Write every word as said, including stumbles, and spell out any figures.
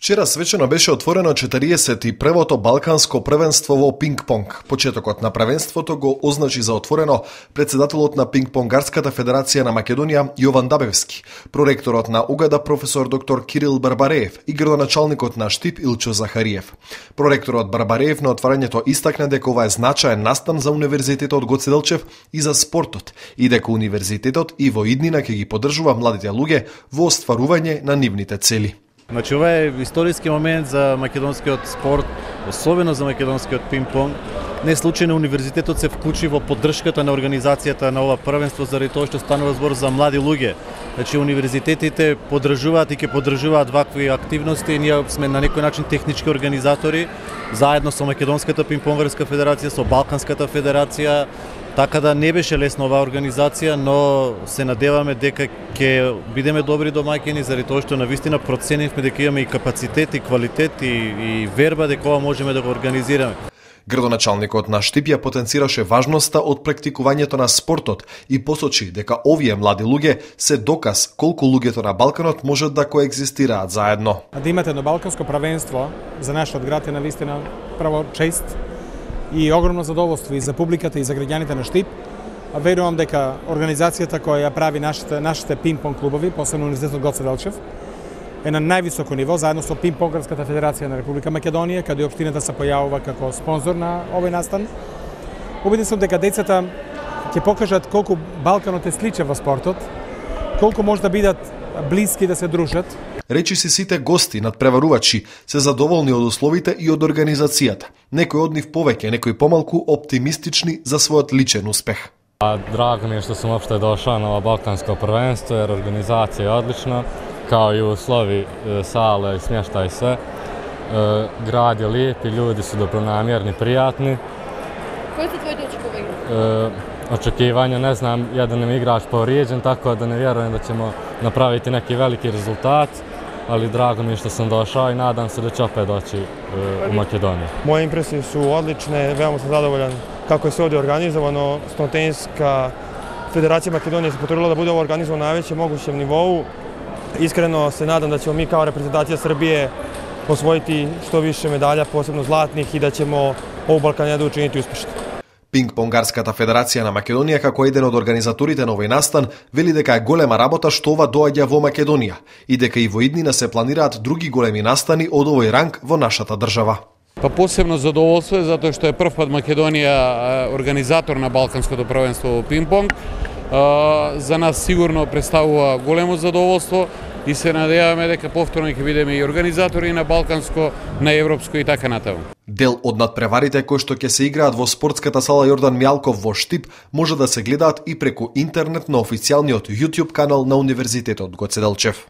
Вчера свечено беше отворено четириесет и првото балканско првенство во пинг-понг. Почетокот на првенството го означи за отворено председателот на Пинг-понгарската федерација на Македонија Јован Дабевски, проректорот на УГАДА професор доктор Кирил Барбареев и градоначалникот на Штип Илчо Захариев. Проректорот Барбареев на отварањето истакна дека ова е значаен настан за Универзитетот Гоце Делчев и за спортот и дека универзитетот и во иднина ќе ги поддржува младите луѓе во остварување на нивните цели. Значи, ова е историски момент за македонскиот спорт, особено за македонскиот пинг-понг. Не случајно универзитетот се вклучи во поддршката на организацијата на ова првенство заради тоа што станува збор за млади луѓе. Значи, универзитетите поддржуваат и ќе поддржуваат вакви активности. Ние сме на некој начин технички организатори, заедно со Македонската пинг-понгарска федерација, со Балканската федерација. Така да не беше лесна оваа организација, но се надеваме дека ќе бидеме добри домаќини заради тоа што навистина проценивме дека имаме и капацитет, и квалитет, и, и верба дека ова можеме да го организираме. Градоначалникот на Штип ја потенцираше важноста од практикувањето на спортот и посочи дека овие млади луѓе се доказ колку луѓето на Балканот можат да коегзистираат заедно. Да имате едно балканско првенство за нашиот град е навистина право чест и огромно задоволство и за публиката и за граѓаните на Штип. Верувам дека организацијата која ја прави нашите нашите пинг-понг клубови, посебно Универзитетот Гоце Делчев, е на највисоко ниво, заедно со Пинг-понгарската федерација на Република Македонија, каде општината се појавува како спонзор на овој настан. Убеден сум дека децата ќе покажат колку Балканот е сличен во спортот, колку може да бидат блиски да се дружат. Речи си сите гости надпреварувачи се задоволни од условите и од организацијата. Некои од нив повеќе, некои помалку оптимистични за својот личен успех. Драго ми е што сум опште дошao на ова балканско првенство, jer организација е одлична, kao i uslovi, sale, smještaj, sve. Grad je lijep i ljudi su dobronamjerni, prijatni. Koji su tvoji očekivanja? Očekivanja, ne znam, jedan nam igrač povrijeđen, tako da ne vjerujem da ćemo napraviti neki veliki rezultat, ali drago mi je što sam došao i nadam se da će opet doći u Makedoniju. Moje impresije su odlične, veoma sam zadovoljan kako je sve ovdje organizovano. Stenotenijska federacija Makedonije se potrudila da bude ovo organizovano na najvećem mogućem nivou. Iskreno se nadam da ćemo mi kao reprezentacija Srbije osvojiti što više medalja, posebno zlatnih, i da ćemo ovu Balkanijadu učiniti uspešno. Пинг-понгарската федерација на Македонија како еден од организаторите на овој настан вели дека е голема работа што ова доаѓа во Македонија и дека и во иднина се планираат други големи настани од овој ранг во нашата држава. Па посебно задоволство е затоа што е прв пат Македонија организатор на Балканското првенство во пинг-понг. За нас сигурно представува големо задоволство и се надеваме дека повторно ќе бидеме и организатори на Балканско, на Европско и така натаму. Дел од надпреварите кои што ќе се играат во спортската сала Јордан Мјалков во Штип може да се гледаат и преку интернет на официјалниот YouTube канал на Универзитетот Гоце Делчев.